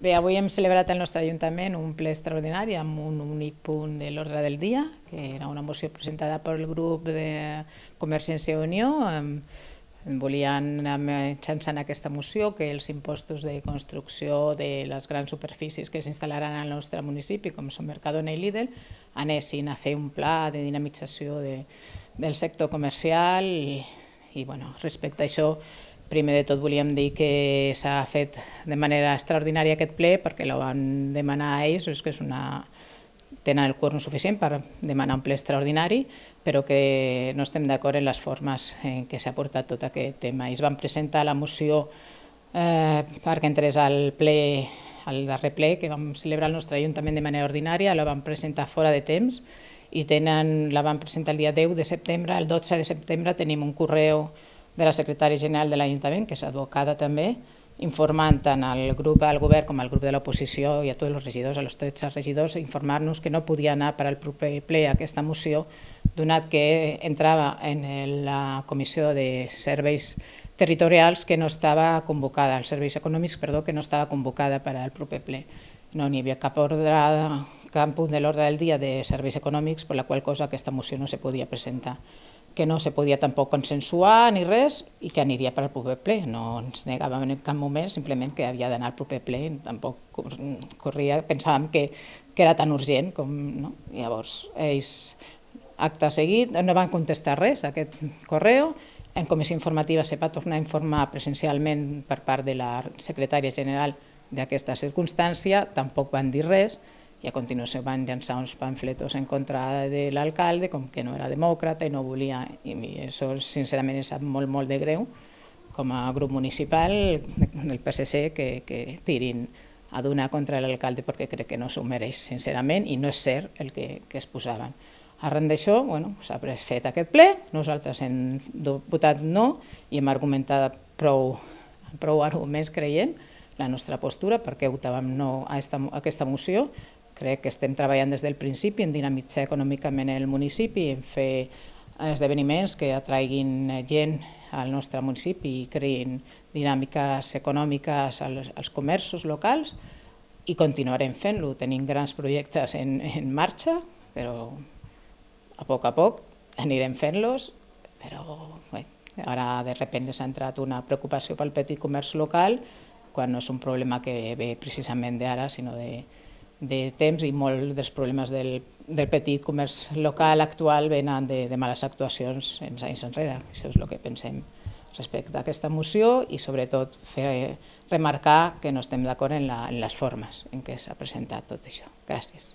Bé, avui hem celebrat al nostre Ajuntament un ple extraordinari amb un únic punt de l'ordre del dia, que era una moció presentada pel grup de Convergència i Unió. Volien, mitjançant aquesta moció, que els impostos de construcció de les grans superfícies que s'instal·laran al nostre municipi, com són Mercadona i Lidl, anessin a fer un pla de dinamització del sector comercial i respecte a això, primer de tot volíem dir que s'ha fet de manera extraordinària aquest ple perquè ho van demanar a ells, és que tenen el quòrum suficient per demanar un ple extraordinari, però que no estem d'acord en les formes en què s'ha portat tot aquest tema. Ells van presentar la moció perquè entrés al darrer ple que vam celebrar al nostre Ajuntament de manera ordinària, la van presentar fora de temps i la van presentar el dia 10 de setembre. El 12 de setembre tenim un correu de la secretària general de l'Ajuntament, que és advocada també, informant tant al grup del govern com al grup de l'oposició i a tots els regidors, a los 13 regidors, informar-nos que no podia anar per al proper ple aquesta moció, donat que entrava en la Comissió de Serveis Territorials que no estava convocada, els serveis econòmics, perdó, que no estava convocada per al proper ple. No n'hi havia cap punt de l'ordre del dia de serveis econòmics, per la qual cosa aquesta moció no se podia presentar, que no se podia tampoc consensuar ni res i que aniria per al proper ple. No ens negàvem en cap moment, simplement que havia d'anar al proper ple, tampoc corria, pensàvem que era tan urgent com... Llavors, ells, acte seguit, no van contestar res a aquest correu. En comissió informativa se va tornar a informar presencialment per part de la secretària general d'aquesta circumstància, tampoc van dir res, i a continuació van llançar uns pamfletos en contra de l'alcalde, com que no era demòcrata i no volia, i això sincerament em sap molt, molt de greu, com a grup municipal del PSC, que tirin a donar contra l'alcalde perquè crec que no s'ho mereix, sincerament, i no és cert el que es posaven. Arran d'això, s'ha fet aquest ple, nosaltres hem votat no i hem argumentat prou arguments, creiem, la nostra postura, perquè votàvem no a aquesta moció. Crec que estem treballant des del principi en dinamitzar econòmicament el municipi, en fer esdeveniments que atraiguin gent al nostre municipi i creïn dinàmiques econòmiques als comerços locals, i continuarem fent-lo. Tenim grans projectes en marxa, però a poc anirem fent-los, però ara de sobte s'ha entrat una preocupació pel petit comerç local, quan no és un problema que ve precisament d'ara, sinó de temps, i molts dels problemes del petit comerç local actual venen de males actuacions anys enrere. Això és el que pensem respecte a aquesta moció i sobretot remarcar que no estem d'acord en les formes en què s'ha presentat tot això. Gràcies.